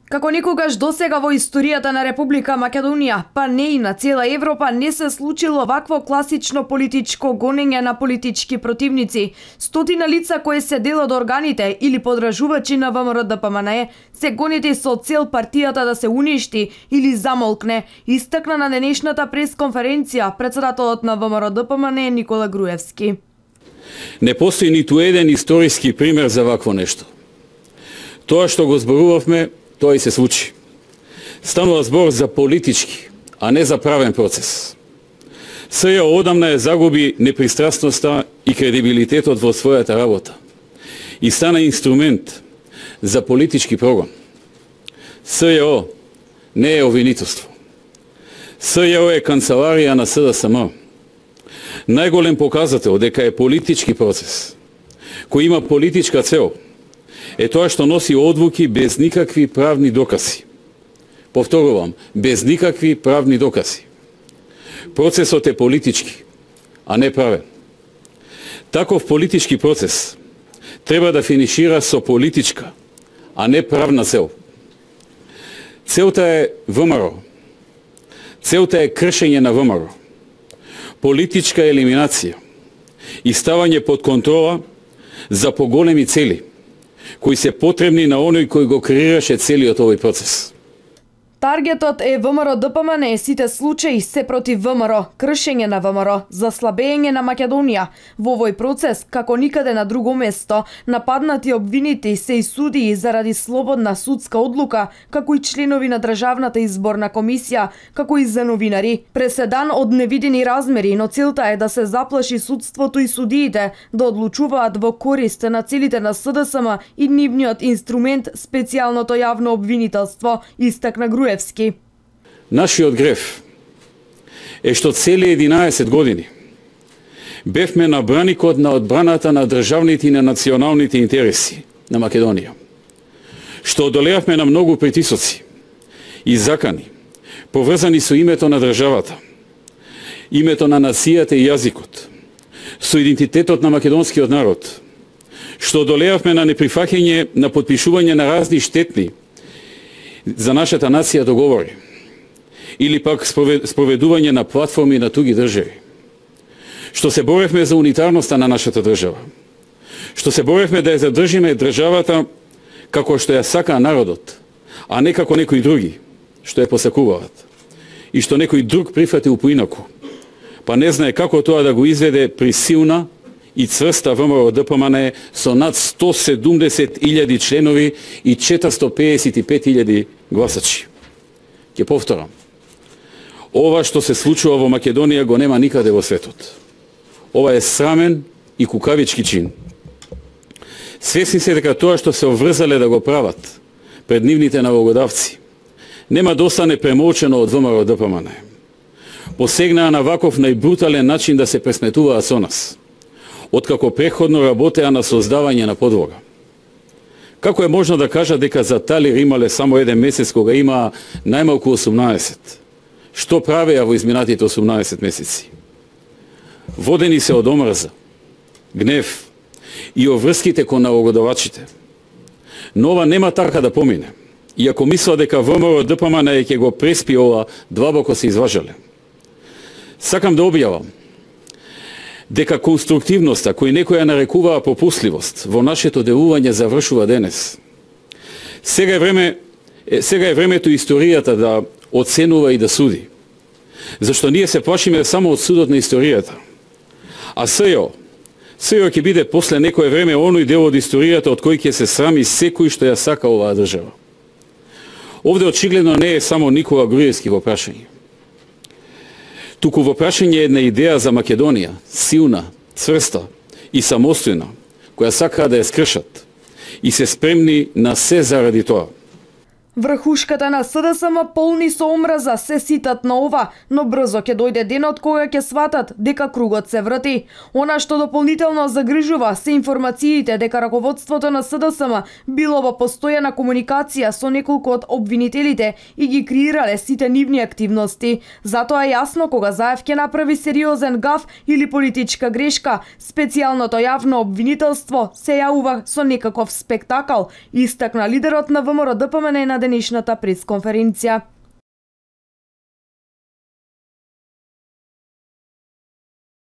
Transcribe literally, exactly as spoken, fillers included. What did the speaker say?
Како никогаш досега во историјата на Република Македонија, па не и на цела Европа, не се случило вакво класично политичко гонење на политички противници. Стотина лица кои се дел од органите или подражувачи на ВМРО-ДПМНЕ се гонети со цел партијата да се уништи или замолкне, истакна на денешната пресконференција председателот на ВМРО-ДПМНЕ Никола Груевски. Не постои ниту еден историски пример за вакво нешто. Тоа што го зборувавме, тоа и се случи. Станува збор за политички, а не за правен процес. СЈО одамна ја загуби непристрасноста и кредибилитетот во својата работа и стана инструмент за политички прогон. СЈО не е обвинителство. СЈО е канцеларија на СДСМ. Најголем показател дека е политички процес, кој има политичка цел, е тоа што носи одлуки без никакви правни докази. Повторувам, без никакви правни докази. Процесот е политички, а не правен. Таков политички процес треба да финишира со политичка, а не правна цел. Целта е ВМРО. Целта е кршење на ВМРО. Политичка елиминација и ставање под контрола за поголеми цели, кои се потребни на оној кој го креираше целиот овој процес. Таргетот е ВМРО-ДПМНЕ, сите случаи се против ВМРО, кршење на ВМРО, заслабење на Македонија. Во овој процес, како никаде на друго место, нападнати обвинити се и судии заради слободна судска одлука, како и членови на Државната изборна комисија, како и за новинари. Преседан од невидени размери, но целта е да се заплаши судството и судиите да одлучуваат во корист на целите на СДСМ и нивниот инструмент специјалното јавно обвинителство, истакна Груевски. Нашиот греф е што цели единаесет години бевме на браникот на одбраната на државните и на националните интереси на Македонија. Што одолеавме на многу притисоци и закани, поврзани со името на државата, името на нацијата и јазикот, со идентитетот на македонскиот народ. Што одолеавме на неприфаќање на потпишување на разни штетни за нашата нација договори, или пак спроведување на платформи на туги држави. Што се боревме за унитарноста на нашата држава. Што се боревме да ја задржиме државата како што ја сака народот, а не како некои други, што ја посакуваат. И што некој друг прифатил поинаку, па не знае како тоа да го изведе при силна и цврста ВМРО-ДПМНЕ со над сто седумдесет илјади членови и четиристотини педесет и пет илјади гласачи. Ќе повторам. Ова што се случува во Македонија го нема никаде во светот. Ова е срамен и кукавички чин. Свесни се дека тоа што се оврзале да го прават пред нивните налогодавци нема да остане премолчено од ВМРО-ДПМНЕ. Посегнаа на ваков најбрутален начин да се пресметуваат со нас, откако преходно работеа на создавање на подлога. Како е можно да кажа дека за Талир имале само еден месец кога има најмалку осумнаесет? Што правеа во изминатите осумнаесет месеци? Водени се од омрза, гнев и оврските кон налогодавачите. Но ова нема така да помине. И ако мисла дека ВМРО-ДПМНЕ ќе го преспи ова, длабоко се изважале. Сакам да објавам дека конструктивноста, кој некоја нарекуваа попусливост, во нашето делување завршува денес. Сега е време, сега е времето историјата да оценува и да суди. Зашто ние се плашиме само од судот на историјата. А СЈО, СЈО ќе биде после некое време оној дел од историјата од кој ќе се срами секој што ја сака оваа држава. Овде очигледно не е само Никола Груевски во прашање. Туку во прашање една идеја за Македонија, силна, цврста и самостојна, која сакаа да ја скршат и се спремни на се заради тоа. Врхушката на СДСМ полни со омраза се ситат на ова, но брзо ќе дојде денот кога ќе сватат дека кругот се врти. Она што дополнително загрижува се информациите дека раководството на СДСМ било во постојана комуникација со неколку од обвинителите и ги креирале сите нивни активности. Затоа е јасно кога Заев ќе направи сериозен гаф или политичка грешка, специјалното јавно обвинителство се јавува со некаков спектакл, истакна лидерот на ВМРО-ДПМНЕ на денешната пресконференција.